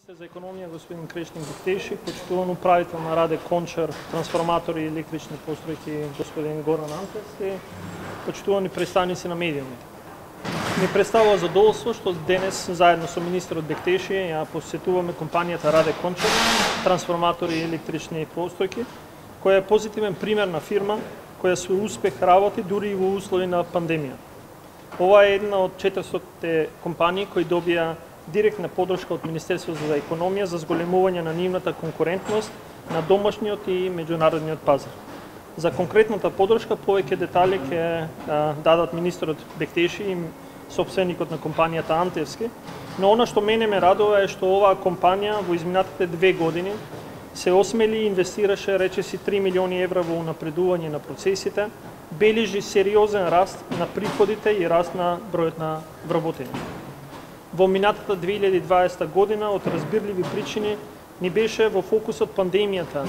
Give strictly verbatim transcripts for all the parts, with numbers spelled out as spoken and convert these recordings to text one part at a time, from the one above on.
Министер за економија господин Крештин Диктеши, почитуван управител на Раде Кончар, трансформатори и електрични постројки господин Горан Антевски, почитувани представници на медиумите. Ми представува задоволство што денес заедно со министерот Диктеши ја посетуваме компанијата Раде Кончар, трансформатори и електрични постројки, која е позитивен пример на фирма која со успех работи дури и во услови на пандемија. Ова е една од четиристотини компании кои добија директна подршка од Министерството за економија за зголемување на нивната конкурентност на домашниот и меѓународниот пазар. За конкретната подршка повеќе детали ќе дадат министерот Диктеши и собственикот на компанијата Антевски, но она што мене ме радува е што оваа компанија во изминатите две години се осмели и инвестираше речиси три милиони евра во унапредување на процесите, бележи сериозен раст на приходите и раст на бројот на вработени. Во минатата две илјади и дваесета година од разбирливи причини ни беше во фокусот пандемијата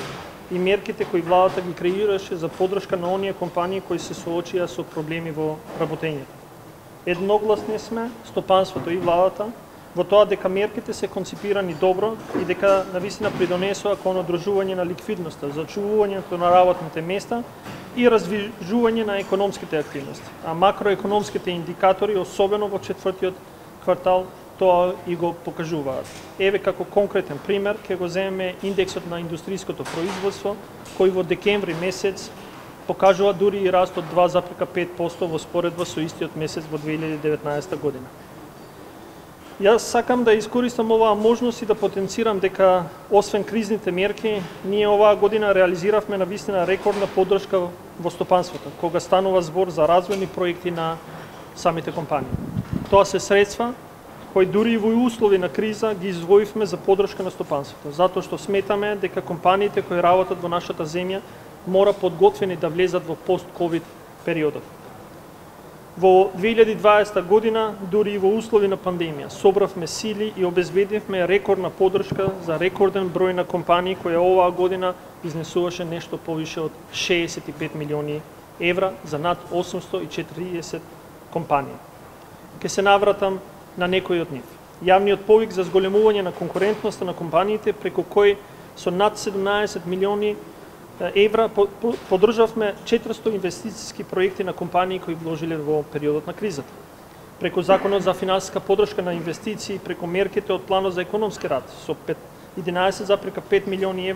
и мерките кои владата ги креираше за подршка на оние компании кои се соочија со проблеми во работењето. Едногласни сме, стопанството и владата, во тоа дека мерките се конципирани добро и дека навистина придонесоа кон одржување на ликвидноста, зачувувањето на работните места и развижување на економските активности, а макроекономските индикатори, особено во четвртиот квартал, тоа и го покажуваат. Еве како конкретен пример ќе го земеме индексот на индустријското производство, кој во декември месец покажува дури и раст од два запирка пет проценти во споредба со истиот месец во две илјади и деветнаесета година. Јас сакам да искористам оваа можност и да потенцирам дека освен кризните мерки, ние оваа година реализиравме навистина рекордна подршка во стопанството, кога станува збор за развојни проекти на самите компании. Тоа се средства кои дури и во услови на криза ги издвоивме за подршка на стопанството, затоа што сметаме дека компаниите кои работат во нашата земја мора подготвени да влезат во пост-ковид периодот. Во две илјади и дваесета година, дури и во услови на пандемија, собравме сили и обезбедивме рекордна подршка за рекорден број на компании која оваа година изнесуваше нешто повише од шеесет и пет милиони евра за над осумсто и четиридесет компании. Ке се навратам на некои од нив. Јавниот повик за зголемување на конкурентноста на компаниите, преку кој со над седумнаесет милиони евра поддржавме четиристо инвестициски проекти на компании кои вложиле во периодот на кризата. Преку Законот за финансиска поддршка на инвестиции, преку мерките од Планот за економски раст со единаесет запирка пет милиони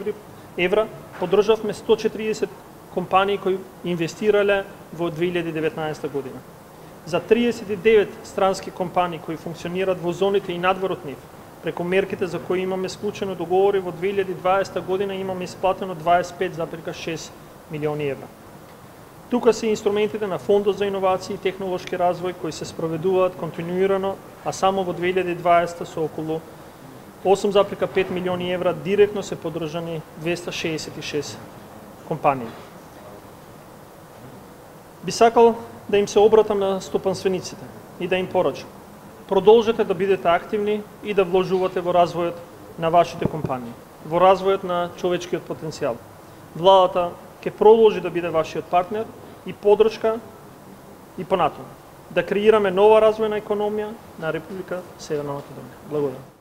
евра, поддржавме сто четиридесет компании кои инвестирале во две илјади и деветнаесета година. За триесет и девет странски компании кои функционираат во зоните и надвор од нив, преку мерките за кои имаме склучено договори во две илјади и дваесета година имаме исплатено дваесет и пет запирка шест милиони евра. Тука се инструментите на Фондот за иновации и технолошки развој кои се спроведуваат континуирано, а само во две илјади и дваесета со околу осум запирка пет милиони евра директно се поддржани двесте шеесет и шест компании. Би сакал да им се обратам на стопанствениците и да им порачам. Продолжете да бидете активни и да вложувате во развојот на вашите компании, во развојот на човечкиот потенцијал. Владата ќе продолжи да биде вашиот партнер и поддршка и понатаму. Да креираме нова развојна економија на Република Северна Македонија. Благодарам.